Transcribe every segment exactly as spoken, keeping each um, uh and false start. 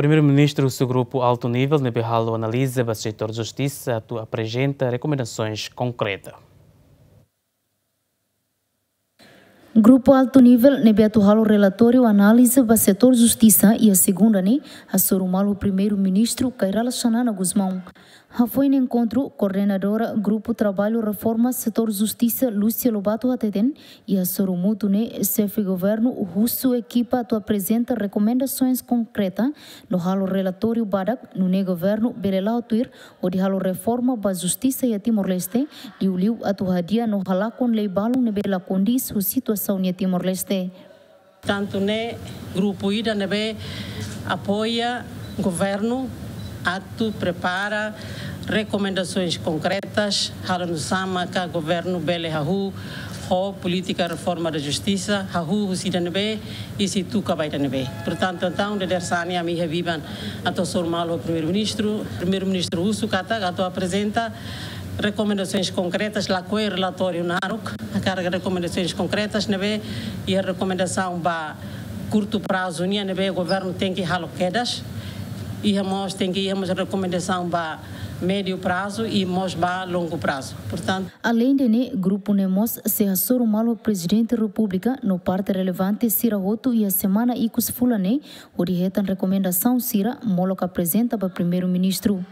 Primeiru-Ministru husu grupu altu nivel ne'ebé halo analiza ba setór justisa atu aprezenta rekomendasoens konkreta. Grupu altu nivel ne'ebé atu halo relatóriu analiza ba setór justisa iha segunda ne'e hasoru malu Primeiru-Ministru Kay Rala Xanana Gusmão. Hafoin enkontru, koordenadora Grupu Traballu Reforma Setór Justisa, Lúcia Lobato, hateten, iha hasoru mútuu ne'e xefe governu husu ekipa atu aprezenta rekomendasoens konkreta no halo relatóriu badak nune'e governu bele la'o tuir hodi halo reforma ba justisa iha Timor-Leste, liuliu atu hadi'a no halakon lei balun ne'ebé la kondiz ho situasaun iha Timor-Leste. Tantu ne'e grupu ida ne'ebé apoia governu atu prepara rekomendasoens konkretas, halo nu'usá maka governu bele hahú ho polítika reforma da justisa, hahú husi ida ne'ebé i sei tuka ba ida ne'ebé. Portantu, entaun, dadeer-saan ne'e ami iha biban atu hasoru malu ho Primeiru-Ministru. Primeiru-Ministru husu katak atu aprezenta rekomendasoens konkretas, lakohi relatóriu naruk, hakarak rekomendasoens konkretas ne'ebé iha rekomendasaun ba kurtu prazu nian ne'ebé governu tenke halo kedas, iha mós, tenke iha mós rekomendasaun ba médiu prazu i mós ba longu prazu. Portantu, aleinde ne'e, grupu ne'e mós sei hasoru malu Prezidente Repúblika no parte relevante sira hotu iha semana ikus fulan ne'e, hodi hetan rekomendasaun sira molok aprezenta ba Primeiru-Ministru.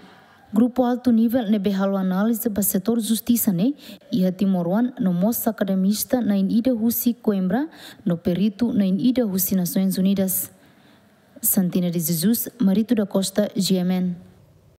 Grupu altu nivel ne'ebé halo analiza ba setór justisa ne'e iha timoroan no mós akademista na'in ida husi Coimbra no peritu na'in ida husi Nasoins Unidas. Santina de Jesus, Marito da Costa, G M N.